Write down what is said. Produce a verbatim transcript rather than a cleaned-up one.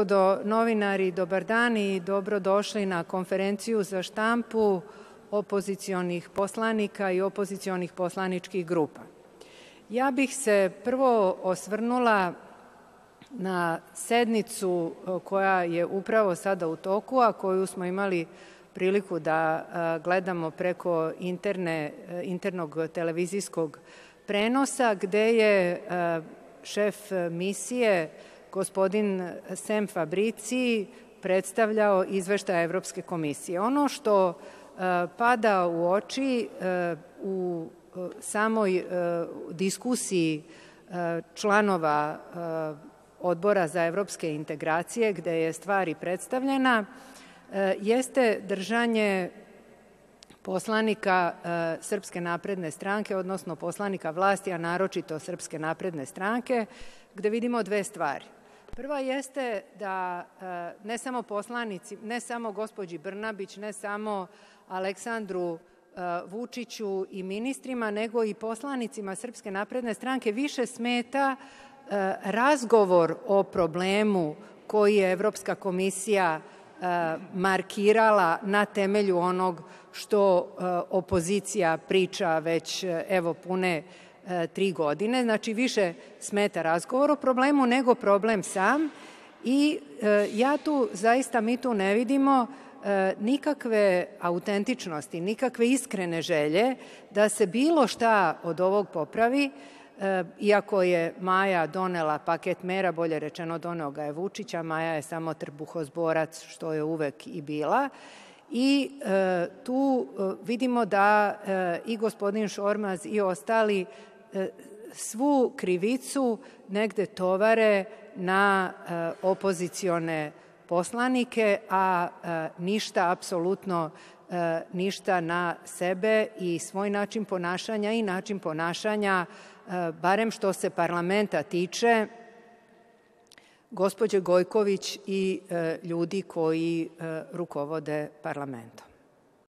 Gospodo novinari, dobar dan i dobrodošli na konferenciju za štampu opozicionih poslanika i opozicionih poslaničkih grupa. Ja bih se prvo osvrnula na sednicu koja je upravo sada u toku, a koju smo imali priliku da gledamo preko interne, internog televizijskog prenosa, gde je šef misije, gospodin Sem Fabricii, predstavljao izveštaj Evropske komisije. Ono što pada u oči u samoj diskusiji članova Odbora za evropske integracije, gde je stvar i predstavljena, jeste držanje poslanika Srpske napredne stranke, odnosno poslanika vlasti, a naročito Srpske napredne stranke, gde vidimo dve stvari. Prva jeste da ne samo poslanici, ne samo gospođi Brnabić, ne samo Aleksandru Vučiću i ministrima, nego i poslanicima Srpske napredne stranke više smeta razgovor o problemu koji je Evropska komisija markirala na temelju onog što opozicija priča već evo pune tri godine. Znači, više smeta razgovor o problemu nego problem sam i ja tu, zaista mi tu ne vidimo nikakve autentičnosti, nikakve iskrene želje da se bilo šta od ovog popravi, iako je Maja donela paket mera, bolje rečeno doneo ga je Vučić, a Maja je samo trbuhozborac, što je uvek i bila. I tu vidimo da i gospodin Šormaz i ostali svu krivicu negde tovare na opozicione poslanike, a ništa, apsolutno ništa na sebe i svoj način ponašanja i način ponašanja, barem što se parlamenta tiče, gospođe Gojković i ljudi koji rukovode parlamentom.